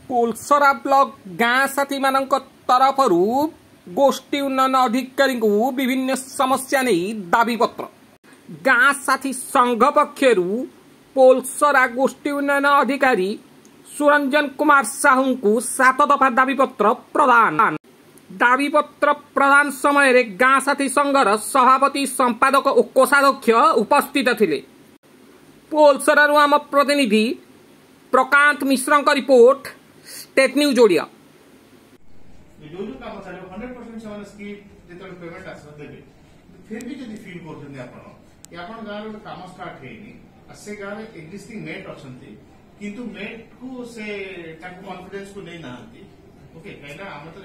Polasara block ଗାଁ ସାଥୀମାନଙ୍କ ତରଫରୁ ଗୋଷ୍ଠୀ ଉନ୍ନୟନ ଅଧିକାରୀଙ୍କୁ ବିଭିନ୍ନ ସମସ୍ୟା ନେଇ ଦାବିପତ୍ର। ଗାଁ ସାଥୀ ସଂଘ ପକ୍ଷରୁ ପୋଲସରା ଗୋଷ୍ଠୀ ଉନ୍ନୟନ ଅଧିକାରୀ ସୁରଞ୍ଜନ କୁମାର ସାହୁଙ୍କୁ 7 ଦଫା ଦାବିପତ୍ର ପ୍ରଦାନ। ଦାବିପତ୍ର ପ୍ରଦାନ ସମୟରେ ଗାଁ ସାଥୀ ସଂଘର ସଭାପତି, ସମ୍ପାଦକ ଓ କୋଷାଧ୍ୟକ୍ଷ ଉପସ୍ଥିତ ଥିଲେ। ପୋଲସରାରୁ ଆମ ପ୍ରତିନିଧି ପ୍ରକାନ୍ତ ମିଶ୍ରଙ୍କ ରିପୋର୍ଟ, ଷ୍ଟେଟ୍ ନ୍ୟୁଜ୍ ଓଡ଼ିଆ। ଯୋଉ ଯୋଉ କାମ ଚାଲିବ, 100% ସେମାନେ ସ୍କିମ୍ ଯେତେବେଳେ ପେମେଣ୍ଟ ଆସିବ ଦେବେ। ଫିର ବି ଯଦି ଫିଲ୍ କରୁଛନ୍ତି ଆପଣ କି ଆପଣ ଗାଁରେ ଗୋଟେ କାମ ଷ୍ଟାର୍ଟ ହେଇନି ଆଉ ସେ ଗାଁରେ ଏକ୍ଜିଷ୍ଟିଂ ମେଟ୍ ଅଛନ୍ତି, କିନ୍ତୁ ମେଟ୍ କୁ ସେ ତାଙ୍କୁ କନଫିଡେନ୍ସ କୁ ନେଇ ନାହାନ୍ତି, ଓକେ, କାହିଁକିନା ଆମେ ତ